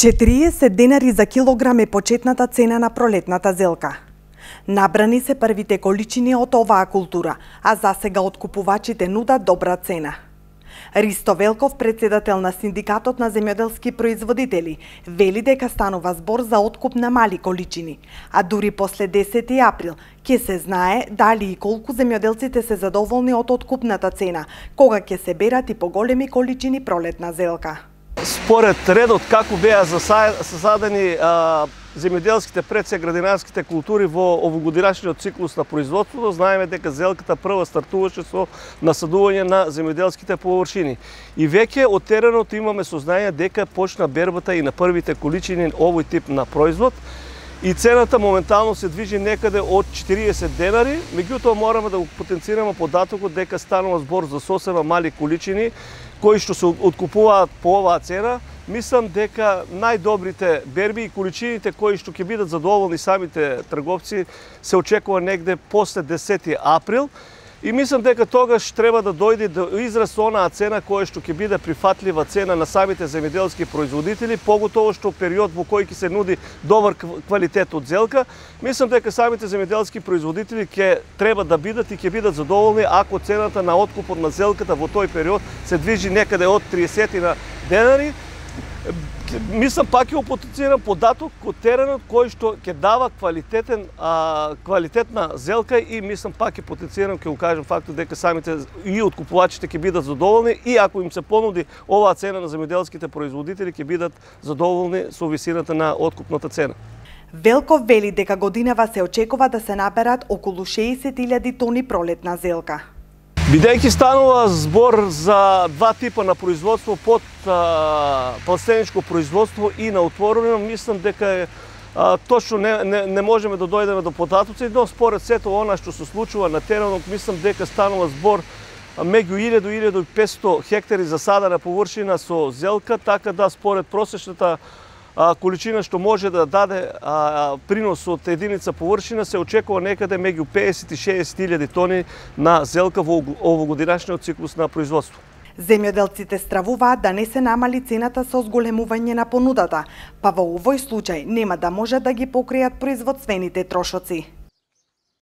40 денари за килограм е почетната цена на пролетната зелка. Набрани се првите количини од оваа култура, а засега откупувачите нудат добра цена. Ристо Велков, председател на Синдикатот на земјоделски производители, вели дека станува збор за откуп на мали количини, а дури после 10 април ќе се знае дали и колку земјоделците се задоволни од откупната цена, кога ќе се берат и поголеми количини пролетна зелка. Според редот како беа засадени земјоделските пред градинарските култури во овогодинашниот циклус на производството, знаеме дека зелката прва стартуваше со насадување на земјоделските површини. И веќе од теренот имаме сознание дека почна бербата и на првите количини овој тип на производ. И цената моментално се движи некаде од 40 денари, меѓутоа мораме да го потенцираме податокот дека станува збор за сосема мали количини кои што се откупуваат по оваа цена. Мислам дека најдобрите берби и количините кои што ќе бидат задоволни самите трговци се очекува негде после 10 април. И мислам дека тогаш треба да дојде до израз онаа цена која што ќе биде прифатлива цена на самите земјоделски производители, поготово што период во кој ќе се нуди добар квалитет од зелка. Мислам дека самите земјоделски производители ќе треба да бидат и ќе бидат задоволни ако цената на откупот на зелката во тој период се движи некаде од 30 денари. Мислам пак ќе потенцирам податок од теренот кој што ќе дава квалитетна зелка и мислам пак ќе потенцирам, ќе го кажам фактот дека самите и откупувачите ќе бидат задоволни и ако им се понуди оваа цена на земјоделските производители ќе бидат задоволни со висината на откупната цена. Велков вели дека годинава се очекува да се наберат околу 60.000 тони пролетна зелка. Бидејќи станува збор за два типа на производство, под пластеничко производство и на отворено, мислам дека точно не можеме да дојдеме до податоци, но според сето она што се случува на теренот, мислам дека станува збор меѓу 1000 и 1500 хектари засадена површина со зелка, така да според просечната количина што може да даде принос од единица површина се очекува некаде меѓу 50 и 60.000 тони на зелка во овогодинашниот циклус на производство. Земјоделците стравуваат да не се намали цената со зголемување на понудата, па во овој случај нема да можат да ги покријат производствените трошоци.